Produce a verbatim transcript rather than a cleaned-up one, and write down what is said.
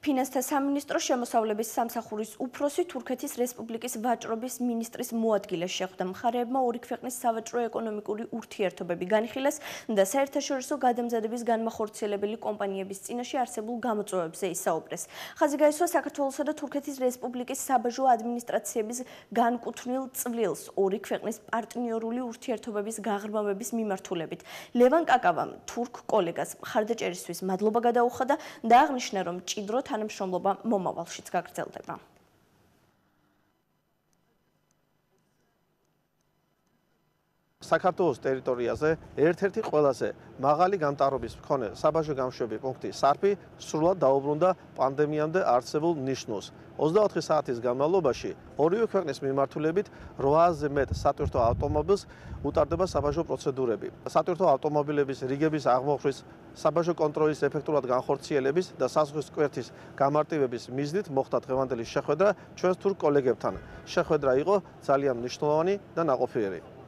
ფინანსთა სამინისტროს შემოსავლების სამსახურის უფროსი თურქეთის რესპუბლიკის ვაჭრობის მინისტრის მოადგილეს შეხვდა. მხარეებმა ორი ქვეყნის სავაჭრო-ეკონომიკური ურთიერთობები განიხილეს და საერთაშორისო გადამზადების განმახორციელებელი კომპანიების წინაშე არსებულ გამოწვევებზე ისაუბრეს. ხაზი გაისვა საქართველოსა და თურქეთის რესპუბლიკის საბაჟო ადმინისტრაციების განკუთვნილ წვლილს ორი ქვეყნის პარტნიორული ურთიერთობების გაღრმავების მიმართულებით. ლევან კაკავამ თურქ კოლეგას მხარდაჭერისთვის მადლობა გადაუხადა და აღნიშნა, რომ მჭიდრო თანამშრომლობა მომავალშიც გაგრძელდება. საქართველოს ტერიტორიაზე ერთ-ერთი ყველაზე მაღალი გამტარობის მქონე საბაჟო გამშვები პუნქტი სარფი სრულად დაუბრუნდა პანდემიამდე არსებულ ნიშნულს. ოცდაოთხი საათის განმავლობაში ორივე ქვეყნის მიმართულებით რვააზე მეტ სატვირთო ავტომობილს უტარდება საბაჟო პროცედურები. სატვირთო ავტომობილების რიგების აღმოხსვის, საბაჟო კონტროლის ეფექტურად განხორციელების და საზღვრის კვერეთის გამარტივების მიზნით მოხდა დღევანდელი შეხვედრა ჩვენს თურქ კოლეგებთან. შეხვედრა იყო ძალიან მნიშვნელოვანი და ნაყოფიერი.